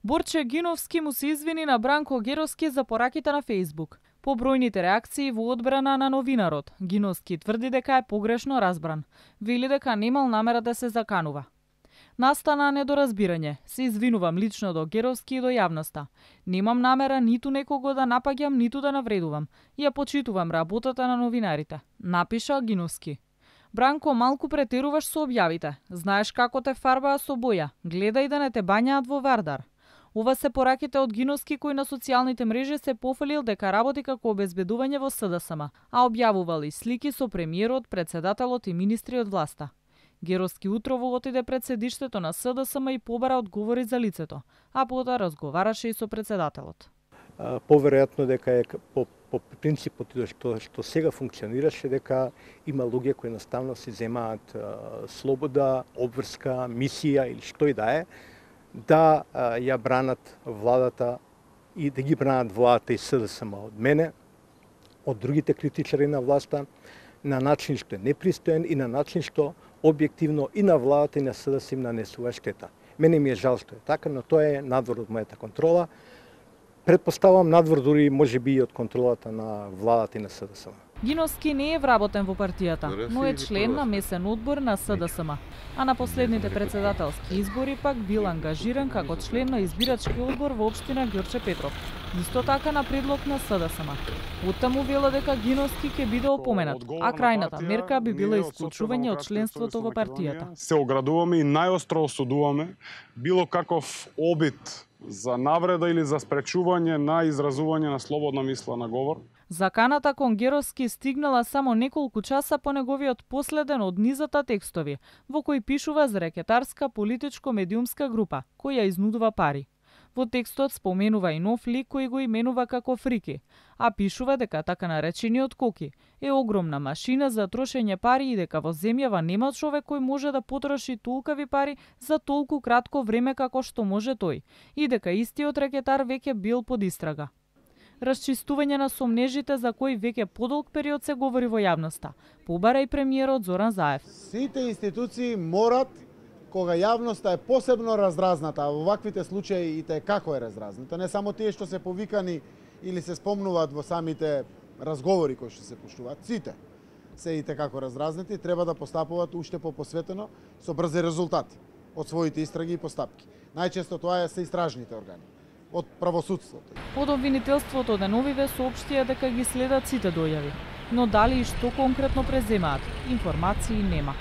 Борче Гиновски му се извини на Бранко Геровски за пораките на Facebook. По бројните реакции во одбрана на новинарот, Гиновски тврди дека е погрешно разбран. Вели дека немал намера да се заканува. Настана недоразбирање. Се извинувам лично до Геровски и до јавноста. Немам намера ниту некого да напаѓам, ниту да навредувам. Ја почитувам работата на новинарите, напиша Гиновски. Бранко, малку претеруваш со објавите. Знаеш како те фарбаа со боја. Гледај да не те бањаат во Вардар. Ова се пораките од Гиновски кој на социјалните мрежи се пофалил дека работи како обезбедување во СДСМ, а објавувал и слики со премиерот, председателот и министри од власта. Геровски утрово отиде пред седиштето на СДСМ и побара одговори за лицето, а потоа разговараше и со председателот. Поверојатно дека е по принципот што сега функционираше, дека има луѓе кои наставно си земаат слобода, обврска, мисија или што и да е, да ја бранат владата и да ги бранат владата и СДСМ од мене, од другите критичари на власта, на начин што е непристоен и на начин што објективно и на владата и на СДСМ им нанесува штета. Мене ми е жал што е така, но тоа е надвор од мојата контрола. Предпоставам надвор дури можеби и од контролата на владата и на СДСМ. Гиновски не е вработен во партијата, но е член на месен одбор на СДСМ, а на последните председателски избори пак бил ангажиран како член на избирачки одбор во општина Ѓорче Петров, исто така на предлог на СДСМ. Оттаму вела дека Гиновски ќе биде опоменат, а крајната мерка би била исклучување од членството во партијата. Се оградуваме и најостро осудуваме било каков обид за навреда или за спречување на изразување на слободна мисла на говор. Заканата кон Геровски стигнала само неколку часа по неговиот последен од низата текстови, во кој пишува за рекетарска политичко-медиумска група, која изнудува пари. Во текстот споменува и нов лик кој го именува како Фрики, а пишува дека така наречениот Коки е огромна машина за трошење пари и дека во земјава нема човек кој може да потроши толкави пари за толку кратко време како што може тој, и дека истиот рекетар веќе бил под истрага. Расчистување на сомнежите за кој веќе подолг период се говори во јавноста, побара и премиерот Зоран Заев. Сите институции морат, кога јавноста е посебно раздразната, а во ваквите случаи и те како е раздразната, не само тие што се повикани или се спомнуваат во самите разговори кои што се пуштуваат, сите се и те како раздразнати, треба да постапуваат уште посветено со брзи резултати од своите истраги и постапки. Најчесто тоа се истражните органи од правосудството. Од обвинителството деновиве соопштија дека ги следат сите дојави, но дали и што конкретно преземаат, информации нема.